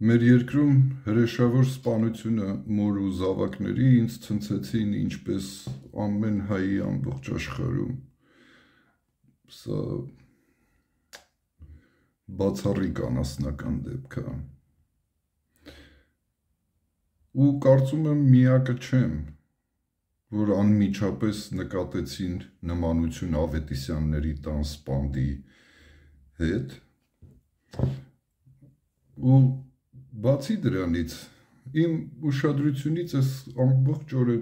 Մեր երկրում հրեշավոր սպանությունը մոր ու զավակների ինձ ցնցեցին ինչպես ամեն հայի ամբողջ աշխարհում։ Սա բացառիկ անասնական դեպք է։ Ու կարծում եմ միակը չեմ, որ անմիջապես նկատեցին նմանություն Ավետիսյանների տան սպանդի հետ։ Ու բացի դրանից, իմ ուշադրությունից այս ամբողջ օրը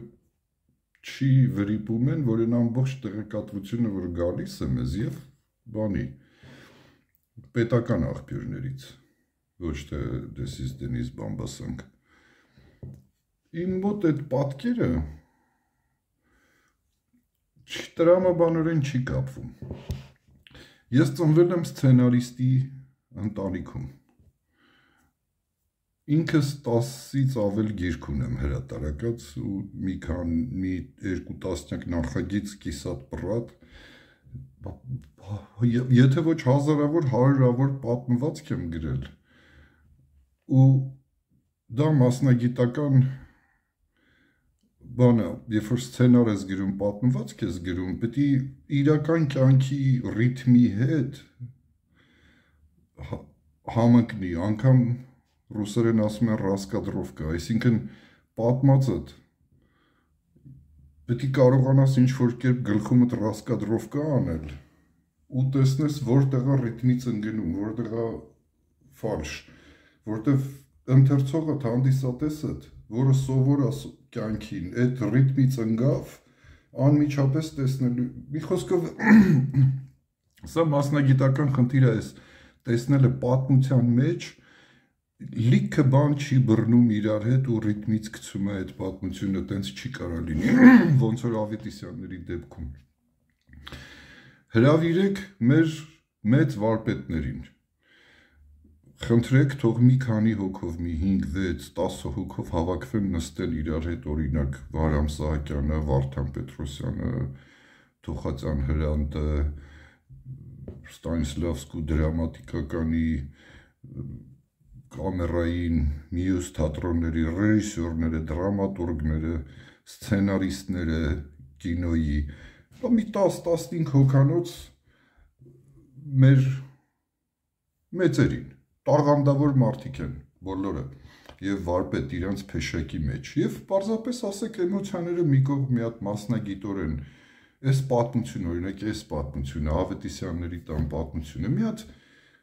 չի վրիպում են, որ այն ամբողջ տեղեկատվությունը, որ գալիս է մեզ եւ բանի, պետական աղբյուրներից, ոչ թե դեսից դենից բամբասանք։ Իմ մոտ այդ պատկերը տրամաբանորեն չի կապվում։ Ես ծնվել եմ սցենարիստի ընտանիքում։ Ինքս 10-ից ավել գիրք ունեմ հրատարակած ու մի երկու տասնյակ նախագիծ կիսատ պռատ, եթե ոչ հազարավոր, հարյուրավոր պատմվածք եմ գրել, ու դա մասնագիտական բան է, երբ որ սցենար ես գրում, պատմվածք ես գրում, պետք է իրական կյանքի ռիթմի հետ համընկնի, անգամ ռուսերեն ասում են ռասկադրովկա, այսինքն պատմածդ պետք է կարողանաս ինչ-որ կերպ գլխումդ ռասկադրովկա անել ու տեսնես որտեղ է ռիթմից ընկնում, որտեղ է ֆալշ, որտեղ ընթերցողդ հանդիսատեսդ, որը սովոր է կյանքին, այդ ռիթմից ընկավ, անմիջապես տեսնելու, մի խոսքով սա մասնագիտական խնդիր է, տեսնելը պատմության մեջ լիքը բան չի բռնում իրար հետ ու ռիթմից գցում է այդ պատմությունը, տենց չի կարա լինի, ոնց որ Ավետիսյանների դեպքում։ Հրավիրեք մեր մեծ վարպետներին, խնդրեք թող մի քանի հոգով, մի 5, 6, 10 հոգով հավաքվեն նստեն իրար հետ, օրինակ Վարամ Սահակյանը, Վարդան Պետրոսյանը, Թոխածյան Հրանտը, Ստանիսլավսկու դրամատիկականի կամերային մյուս թատրոնների ռեժիսորները, դրամատուրգները, սցենարիստները, կինոյի, մի 10-15 հոգանոց մեր մեծերին, տաղանդավոր մարդիկ են բոլորը, եւ վարպետ իրանց փեշակի մեջ, եւ պարզապես ասեք էմոցիաները մի կողմ մի հատ մասնագիտորեն, այս պատմությունը, օրինակ այս պատմությունը, Ավետիսյանների տան պատմությունը, մի հատ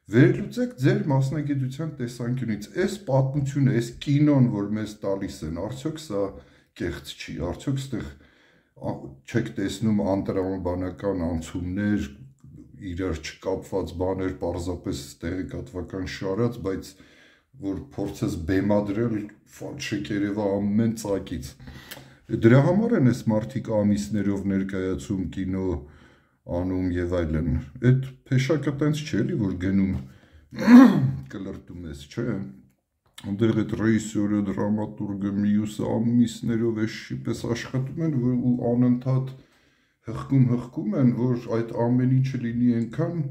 վերլուծեք ձեր մասնագիտության տեսանկյունից, այս պատմությունը, այս կինոն, որ մեզ տալիս են, արդյոք սա կեղծ չի, արդյոք ստեղ չեք տեսնում անտրամաբանական անցումներ, իրար չկապված բաներ, պարզապես տեղեկատվական շարած, բայց որ փորձես բեմադրել, ֆալշիկ երևա ամեն ծակից։ Դրա համար են այս մարդիկ ամիսներով ներկայացում կինո անում եւ այլն, այդ փեշակը տենց չէ էլի, որ գնում կլրտում ես, չէ, այնտեղ այդ ռեժիսորը, դրամատուրգը, մյուսը ամիսներով էշի պես աշխատում են ու անընդհատ հղկում են, որ այդ ամեն ինչը լինի այնքան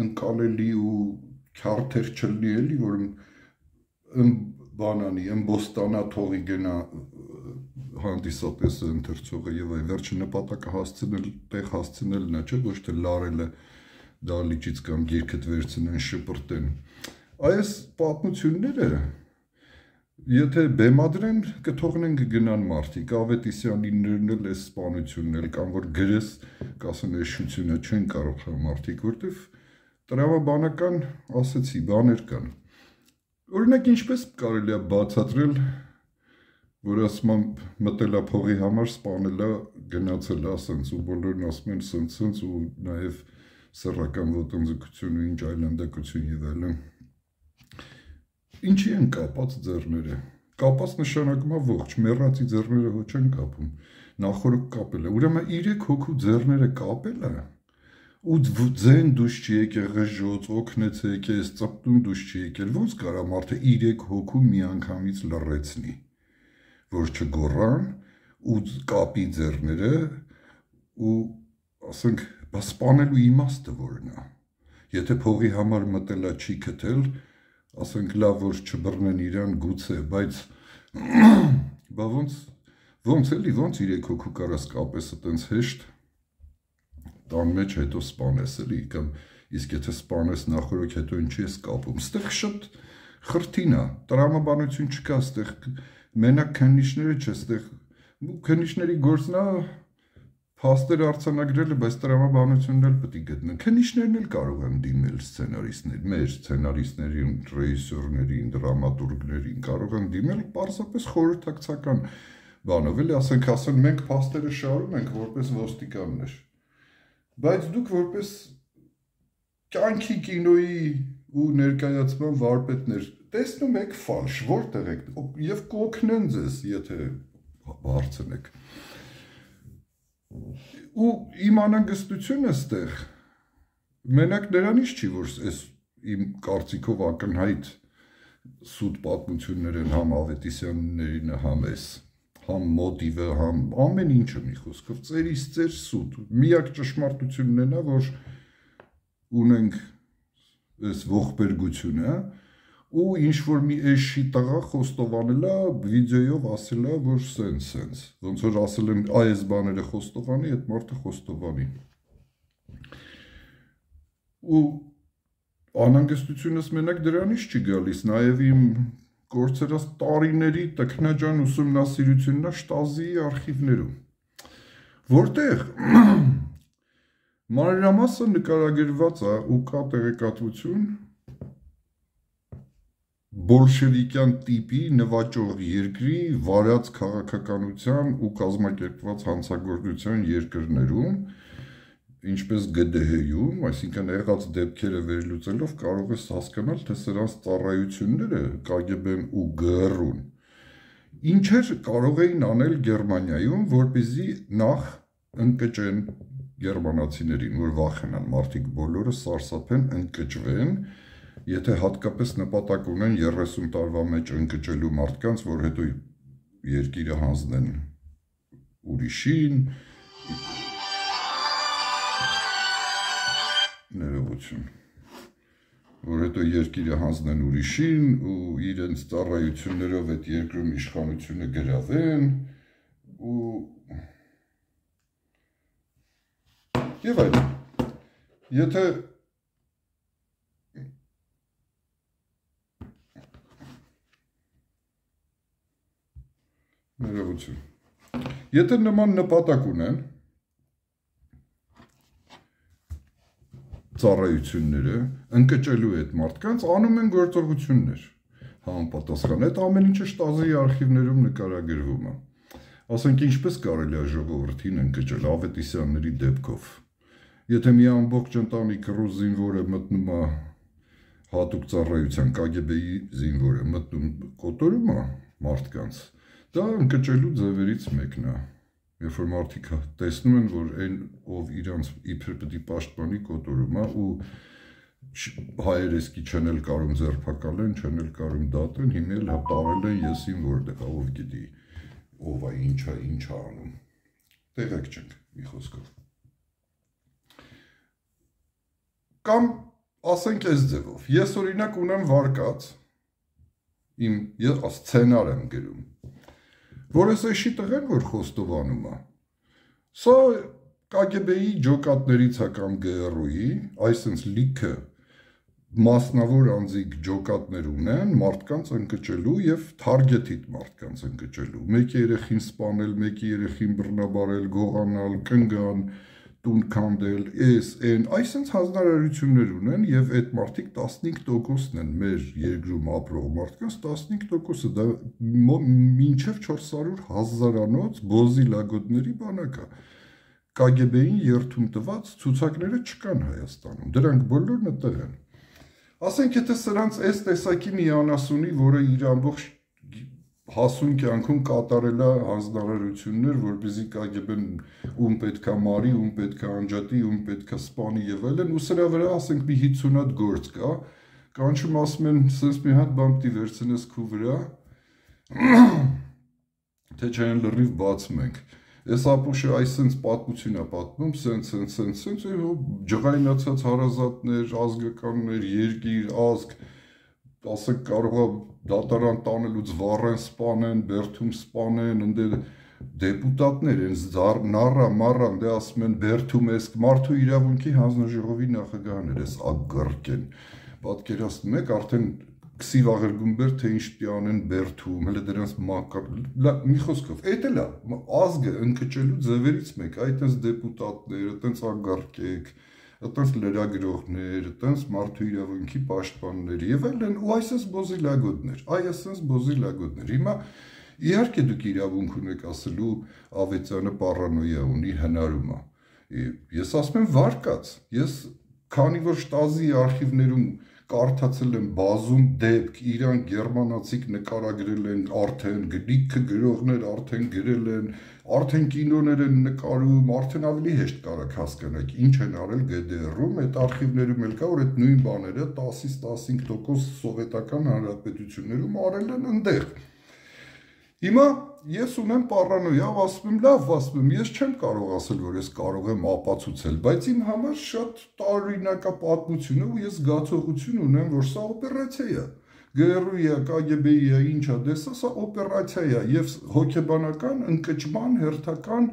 ընկալելի ու քյարթեր չլինի էլի, որ բանանի, ըմբոստանա թողի գնա հանդիսատեսը, ընթերցողը եւ այլ, վերջը նպատակը հասցնել, տեղ հասցնելն է, չէ, ոչ թե լարելը դալիճից կամ գիրքդ վերցնեն, շպրտեն։ Այս պատմությունները, եթե բեմադրեն, կթողնեն կգնան մարդիկ, Ավետիսյանիներն էլ այս սպանությունն էլ, կամ որ գրես, կասեն էշությունը չեն կարող մարդիկ, որտեվ տրամաբանական, ասեցի, բաներ կան։ Օրինակ, ինչպես կարելի է բացատրել, որ ասում եմ մտել է փողի համար, սպանել է, գնացել է ասենց ու բոլորն ասում են սենց ու նաև սեռական ոտնձգություն ու ինչ այլանդակություն եւ այլն։ Ինչի են կապած ձեռները։ Կապած նշանակում է ողջ, մեռածի ձեռները ոչ են կապում, նախորդ կապել է։ Ուրեմն 3 հոգու ձեռները կապել է ու ձեն դուշ չի եկել, ղժոց, օգնեցեք, ես ծպտուն դուշ չի եկել, ոնց կարա մարդը 3 հոգու միանգամից լռեցնի, որ չգոռան ու կապի ձեռները ու ասենք, սպանելու իմաստը որն է։ Եթե փողի համար մտելա չի քթել, ասենք լավ որ չբռնեն իրան գուցե, բայց բա ոնց էլի, ոնց 3 հոգու կարաս կապես այտենց հեշտ տան մեջ հետո սպանես էլի, կամ իսկ եթե սպանես նախորոք հետո ինչի ես կապում, ստեղ շատ խրթին է, տրամաբանություն չկա, ստեղ մենակ քննիչները չէ, ստեղ քննիչների գործն է փաստեր արձանագրելը, բայց տրամաբանությունն էլ պետք է գտնեն, քննիչներն էլ կարող են դիմել սցենարիստներ, մեր սցենարիստներին, ռեժիսորներին, դրամատուրգներին կարող են դիմել պարզապես խորհրդակցական բանով, էլի ասեն մենք փաստերը շարում ենք որպես ոստիկաններ, բայց դուք որպես կյանքի կինոյի ու ներկայացման վարպետներ տեսնում եք ֆալշ, որտեղ եք եւ կօգնեն ձեզ, եթե հարցնեք։ Ու իմ անհանգստությունը ստեղ մենակ նրանից չի, որ այս իմ կարծիքով ակնհայտ սուտ պատմություններ են համ Ավետիսյաններին, համ էս, համ մոտիվը, համ ամեն ինչը մի խոսքով ծերից ծեր սուտ։ Միակ ճշմարտությունն է նա, որ ունենք այս ողբերգությունը ու ինչ որ մի էշի տղա խոստովանել է վիդեոյով ասել է որ սենց ոնց որ ասել են այս բաները խոստովանի, այդ մարդը խոստովանի ու անհանգստությունս մենակ դրանից չի գալիս, նաև իմ գործերած տարիների տքնաջան ուսումնասիրությունն է Շտազիի արխիվներում, որտեղ մանրամասը նկարագրված է ու կա տեղեկատվություն բոլշևիկյան տիպի նվաճող երկրի վարած քաղաքականության ու կազմակերպված հանցագործության երկրներում, ինչպես ԳԴՀ-ում, այսինքն եղած դեպքերը վերլուծելով կարող ես հասկանալ, թե սրանց ծառայությունները ԿԳԲ-ն ու ԳՌ-ուն ինչեր կարող էին անել Գերմանիայում, որպեսզի նախ ընկճեն գերմանացիներին, որ վախենան, մարդիկ բոլորը սարսափեն, ընկճվեն, եթե հատկապես նպատակ ունեն 30 տարվա մեջ ընկճելու մարդկանց, որ հետո երկիրը հանձնեն ուրիշին, ներողություն, որ հետո երկիրը հանձնեն ուրիշին ու իրենց ծառայություններով այդ երկրում իշխանությունը գրավեն ու եւ այլն, եթե ներողություն, եթե նման նպատակ ունեն ծառայությունները ընկճելու այդ մարդկանց անում են գործողություններ համապատասխան, այդ ամեն ինչը Շտազիի արխիվներում նկարագրվում է, ասենք ինչպես կարելի է ժողովրդին ընկճել Ավետիսյանների դեպքով, եթե մի ամբողջ ընտանիք ռուս զինվորը մտնում է հատուկ ծառայության ԿԳԲ-ի զինվորը մտնում կոտորում է մարդկանց, դա ընկճելու ձևերից մեկն է, երբ որ մարդիկ տեսնում են, որ այն ով իրանց իբր պետք է պաշտպանի կոտորում է ու հայերեսկի չեն էլ կարող ձերբակալեն, չեն էլ կարող դատեն, հիմա էլ հպարել են եսին որտեղ է, ով գիտի ով է, ինչ է անում, տեղեկ չենք մի խոսքով։ Կամ ասենք այս ձևով, ես օրինակ ունեմ վարկած, ես սցենար եմ գրում, որ ես էշի տղեն, որ խոստովանում է, սա ԿԳԲ-ի ջոկատներից է կամ ԳՌՈ-ի, այսինքն լիքը մասնավոր անձիկ ջոկատներ ունեն մարդկանց ընկճելու եւ թարգեթիտ մարդկանց ընկճելու, մեկի երեխին սպանել, մեկի երեխին բռնաբարել, գողանալ, կնգան, տուն քանդել, այսինքն հանձնարարություններ ունեն եւ այդ մարդիկ 15%-ն են մեր երկրում ապրող մարդկանց 15%-ը դա մինչեւ 400,000-անոց բոզի լագոդների բանակ է ԿԳԲ-ին երթում տված ցուցակները չկան Հայաստանում, դրանք բոլորն այդտեղ են։ Ասենք եթե սրանց այս տեսակի մի անասունի, որը իր ամբողջ հասուն կյանքում կատարել է հանձնարարություններ, որպեսզի ԿԳԲ-ն ում պետքա մարի, ում պետքա անջատի, ում պետքա սպանի եւ այլն, ու սրա վրա ասենք մի 50 հատ գործ կա, կանչում ասում են, սենց մի հատ բան պիտի վերցնես քու վրա, թե չեն լրիվ բացում ենք։ Այս ապուշը այսենց պատմություն է պատմում, սենց, ջղայնացած հարազատներ, ազգականներ, երկիր, ազգ, ասենք կարող է դատարան տանելուց վառեն սպանեն, Բերդում սպանեն, ընդ դեպուտատներ են նառա մարան դե ասում են Բերդում էս մարդու իրավունքի հանձնաժողովի նախագահներ էս ագռկեն պատկերացնում եք արդեն քսիվ աղերգումբեր թե ինչ պիտի անեն Բերդում հələ դրանց մի խոսքով էդ էլ է ազգը ընկճելու ձևերից մեկ այդպես դեպուտատներ այդպես ագռկեք այդպես լրագրողներ այդպես մարդու իրավունքի պաշտպաններ եւ այլն ու այսպես բոզիլագոդներ հիմա իհարկե դուք իրավունք ունեք ասելու Ավետյանը պարանոյա ունի հնարում է ես ասում եմ վարկած ես քանի որ շտազի արխիվներում կարդացել եմ բազում դեպք իրան գերմանացիք նկարագրել են արդեն գրիքը գրողներ արդեն գրել են արդեն կինոներ են նկարում արդեն ավելի հեշտ կարաք հասկանաք ինչ են արել GDR-ում այդ արխիվներում էլ կա որ այդ նույն բաները 10-ից 15% սովետական հանրապետություններում արել են այնտեղ Հիմա ես ունեմ պարանոյա, ասում եմ լավ, ասում եմ ես չեմ կարող ասել, որ ես կարող եմ ապացուցել, բայց իմ համար շատ տարօրինակ է պատմությունը ու ես զգացողություն ունեմ, որ սա օպերացիա է։ ԳՌՈ-ի է, ԿԳԲ-ի է, ինչ է, դե սա օպերացիա է եւ հոգեբանական ընկճման հերթական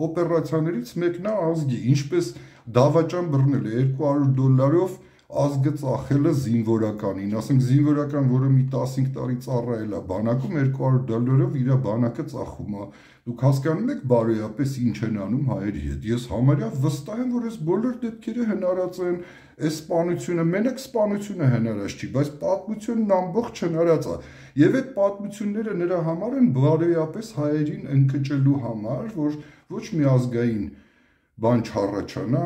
օպերացիաներից մեկն է ազգի, ինչպես դավաճան բռնել է $200 ազգը ծախելը զինվորականին, ասենք զինվորական, որը մի 15 տարի ծառայել է բանակում $200-ով իր բանակը ծախում է։ Դուք հասկանում եք բարոյապես ինչ են անում հայերի հետ։ Ես համարյա վստահ եմ, որ այս բոլոր դեպքերը հնարած են, այս սպանությունը, մենակ սպանությունը հնարած չի, բայց պատմությունն ամբողջ հնարած է։ Եվ այդ պատմությունները նրա համար են բարոյապես հայերին ընկճելու համար, որ ոչ մի ազգային բան չառաջանա,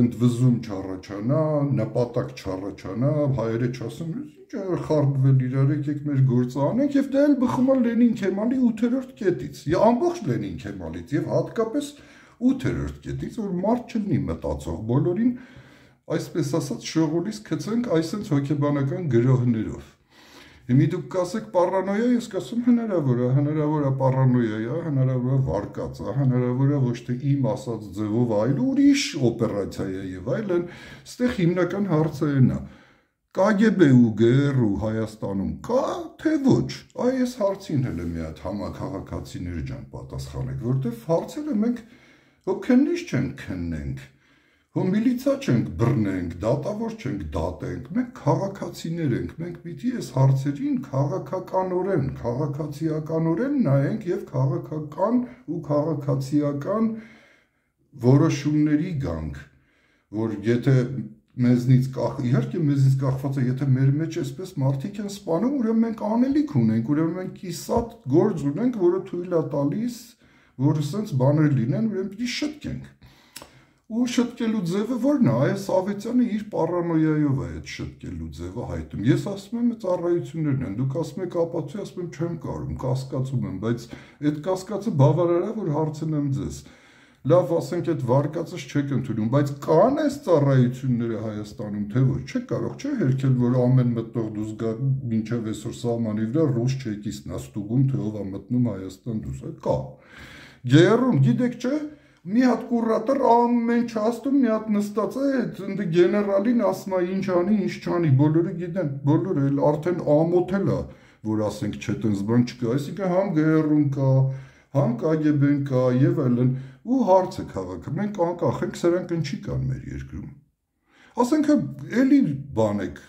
ընդվզում չառաջանա, նպատակ չառաջանա, հայերը չասեն, ինչ խառնվել իրար, եկեք մեր գործը անենք, եւ դա էլ բխում է Լենին Քեմալի 8-րդ կետից, ամբողջ Լենին Քեմալից եւ հատկապես 8-րդ կետից, որ մարդ չլինի մտածող, բոլորին այսպես ասած շողոլիս գցենք այսպես հոգեբանական գրողներով։ Հիմա դուք կասեք պարանոյա, ես կասեմ հնարավոր է պարանոյա, հնարավոր է վարկած, հնարավոր է ոչ թե իմ ասած ձևով այլ ուրիշ օպերացիա է եւ այլն, այստեղ հիմնական հարցը այն է։ ԿԳԲ ու ԳՌ Հայաստանում կա թե ոչ։ Այ այս հարցին հələ մի հատ համակարգացիներ ջան պատասխանեք, որտեվ հարցերը մենք հոգենիշ չենք քննենք։ Հո միլիցա չենք բռնենք, դատավոր չենք դատենք, մենք քաղաքացիներ ենք, մենք պիտի այս հարցերին քաղաքականորեն, քաղաքացիականորեն նայենք եւ քաղաքական ու քաղաքացիական որոշումների գանք, որ եթե մեզնից իհարկե մեզնից կախված է, եթե մեր մեջ այսպես մարդիկ են սպանում, ուրեմն մենք անելիք ունենք, ուրեմն մենք կիսատ գործ ունենք, որը թույլ է տալիս, որ ասենց բաներ լինեն, ուրեմն պիտի շտկենք։ Ու շտկելու ձևը որն է, այս Ավետյանը իր պարանոյայով է այդ շտկելու ձևը հայտնում։ Ես ասում եմ ծառայություններն են, դուք ասում եք ապացույց, ասում եմ չեմ կարող, կասկածում եմ, բայց այդ կասկածը բավարար է, որ հարցնեմ ձեզ։ Լավ, ասենք այդ վարկածս չեք ընդունում, բայց կան այս ծառայությունները Հայաստանում, թե ոչ, չեք կարող, չէ՞ հերքել, որ ամեն մտնող դուրս գա մինչև այսօր սահմանի վրա ռուս չեկիստն է ստուգում, թե ով է մտնում Հայաստան դուրս, կա։ Գերում, գիտեք չէ՞ Մի հատ կուրատոր ամեն չաստում մի հատ նստած է, ընդ գեներալին ասում է ինչ անի, ինչ չանի, բոլորը գիտեն, բոլորը էլ արդեն ամոթել է, որ ասենք չէ տենց բան չկա, այսինքն համ ԳՌ-ում կա, համ ԿԳԲ-ն կա եւ այլն, ու հարցը քաղաքը, մենք անկախ ենք, սրանք ինչի կան մեր երկրում։ Ասենք էլի բան եք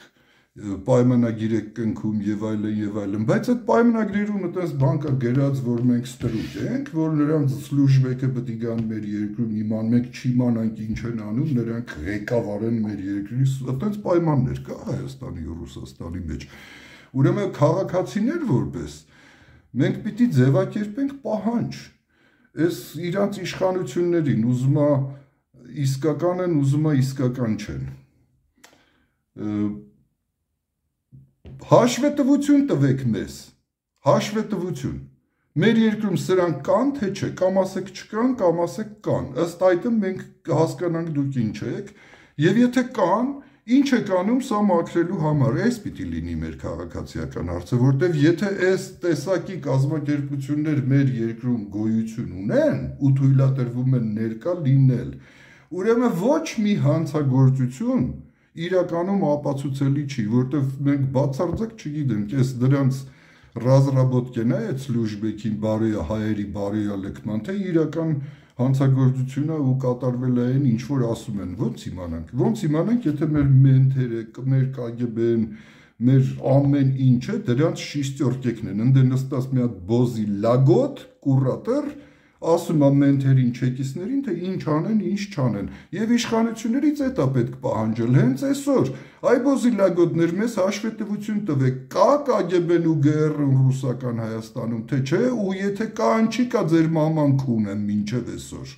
պայմանագիր եք կնքում եւ այլն, բայց այդ պայմանագրերում այդպես բան կա գրած, որ մենք ստրուկ ենք, որ նրանց սլուժբեկը պետք է գան մեր երկրում իման, մենք չիմանանք ինչ են անում, նրանք ղեկավարեն մեր երկրի, այդպես պայմաններ կա Հայաստանի ու Ռուսաստանի մեջ։ Ուրեմն քաղաքացիներ որպես մենք պիտի ձևակերպենք պահանջ։ Այս իրանց իշխանություններին ուզում է իսկական են, ուզում է իսկական չեն։ Հաշվետվություն տվեք մեզ, հաշվետվություն, մեր երկրում սրանք կան, թե չէ, կամ ասեք չկան, կամ ասեք կան, ըստ այդմ մենք հասկանանք դուք ինչ եք, և եթե կան, ինչ եք անում սա մաքրելու համար, այս պիտի լինի մեր քաղաքացիական հարցը, որտև եթե այս տեսակի կազմակերպություններ մեր երկրում գոյություն ունեն, ու թույլատրվում են ներկա լինել, ուրեմն ոչ մի հանցագործություն իրականում ապացուցելի չի, որտեվ մենք բացարձակ չգիտենք, այս դրանց ռազրաբոտկեն է այդ սլուժբեքին հայերի բարոյալքման, թե իրական հանցագործությունը ու կատարվել է այն, ինչ որ ասում են, ոնց իմանանք, եթե մեր մենթերը, մեր KGB-ն, մեր ամեն ինչը դրանց շիստյորկեկն են, ընդե նստած մի հատ բոզի լագոտ, կուրատր, ասում է մենթերին, չեկիստներին, թե ինչ անեն, ինչ չանեն, և իշխանություններից էդ է պետք պահանջել, հենց այսօր, այ բոզի լագոտներ, մեզ հաշվետվություն տվեք, կա KGB-ն ու GRU-ն ռուսական Հայաստանում, թե չէ, ու եթե կա, ինչի կա ձեր մաման քունը մինչև այսօր։